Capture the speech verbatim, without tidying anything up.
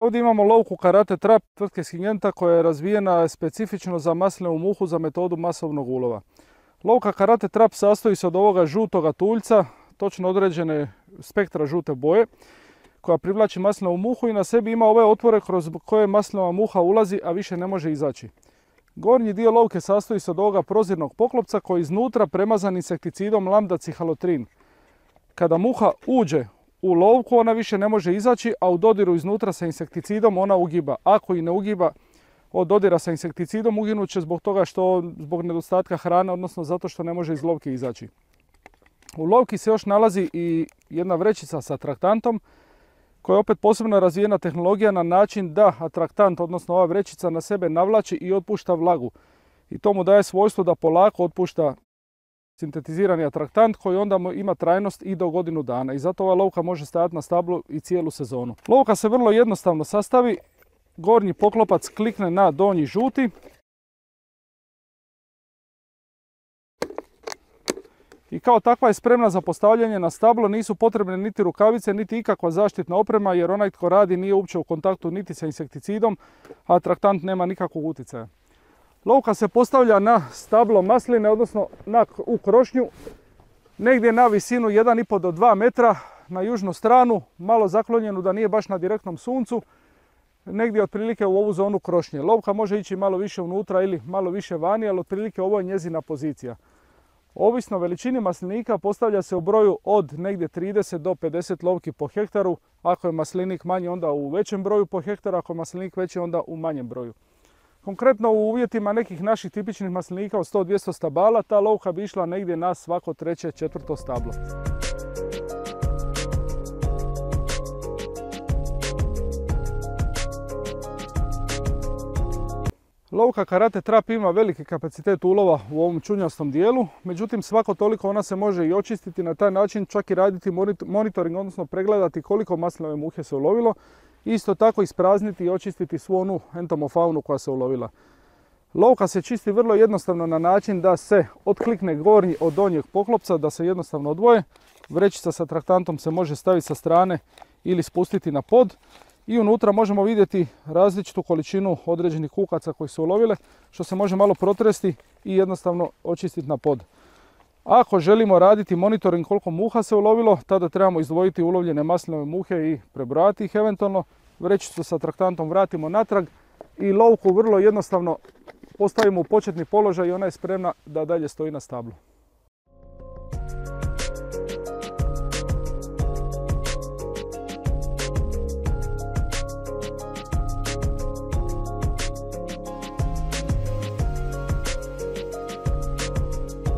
Ovdje imamo lovku Karate Trap tvrtke Syngenta koja je razvijena specifično za maslinovu muhu za metodu masovnog ulova. Lovka Karate Trap sastoji se od ovoga žutoga tuljca, točno određene spektra žute boje, koja privlači maslinovu muhu i na sebi ima ove otvore kroz koje maslinova muha ulazi, a više ne može izaći. Gornji dio lovke sastoji se od ovoga prozirnog poklopca koji iznutra premazan insekticidom lambda cihalotrin. Kada muha uđe u lovku ona više ne može izaći, a u dodiru iznutra sa insekticidom ona ugiba. Ako i ne ugiba od dodira sa insekticidom, uginut će zbog toga što zbog nedostatka hrane, odnosno zato što ne može iz lovke izaći. U lovki se još nalazi i jedna vrećica sa atraktantom koja je opet posebno razvijena tehnologija na način da atraktant, odnosno ova vrećica, na sebe navlači i otpušta vlagu. I to mu daje svojstvo da polako otpušta sintetizirani atraktant koji onda ima trajnost i do godinu dana. I zato ova lovka može stajati na stablu i cijelu sezonu. Lovka se vrlo jednostavno sastavi. Gornji poklopac klikne na donji žuti. I kao takva je spremna za postavljanje na stablo, nisu potrebne niti rukavice, niti ikakva zaštitna oprema jer onaj tko radi nije uopće u kontaktu niti sa insekticidom, a atraktant nema nikakvog utjecaja. Lovka se postavlja na stablo masline, odnosno na, u krošnju, negdje na visinu jedan i pol do dva metra, na južnu stranu, malo zaklonjenu da nije baš na direktnom suncu, negdje otprilike u ovu zonu krošnje. Lovka može ići malo više unutra ili malo više vani, ali otprilike ovo je njezina pozicija. Ovisno o veličini maslinika postavlja se u broju od negdje trideset do pedeset lovki po hektaru. Ako je maslinik manji onda u većem broju po hektaru, ako je maslinik veći onda u manjem broju. Konkretno u uvjetima nekih naših tipičnih maslinika od sto do dvjesto stabala ta lovka bi išla negdje na svako treće, četvrto stablo. Lovka Karate Trap ima veliki kapacitet ulova u ovom čunjastom dijelu, međutim svako toliko ona se može i očistiti na taj način, čak i raditi monitoring, odnosno pregledati koliko maslinove muhe se ulovilo. Isto tako isprazniti i očistiti svu onu entomofaunu koja se ulovila. Lovka se čisti vrlo jednostavno na način da se otklikne gornji od donjeg poklopca, da se jednostavno odvoje. Vrećica sa atraktantom se može staviti sa strane ili spustiti na pod. I unutra možemo vidjeti različitu količinu određenih kukaca koji su ulovile, što se može malo protresti i jednostavno očistiti na pod. Ako želimo raditi monitoring koliko muha se ulovilo, tada trebamo izdvojiti ulovljene maslinove muhe i prebrojati ih eventualno. Vrećicu sa atraktantom vratimo natrag i lovku vrlo jednostavno postavimo u početni položaj i ona je spremna da dalje stoji na stablu.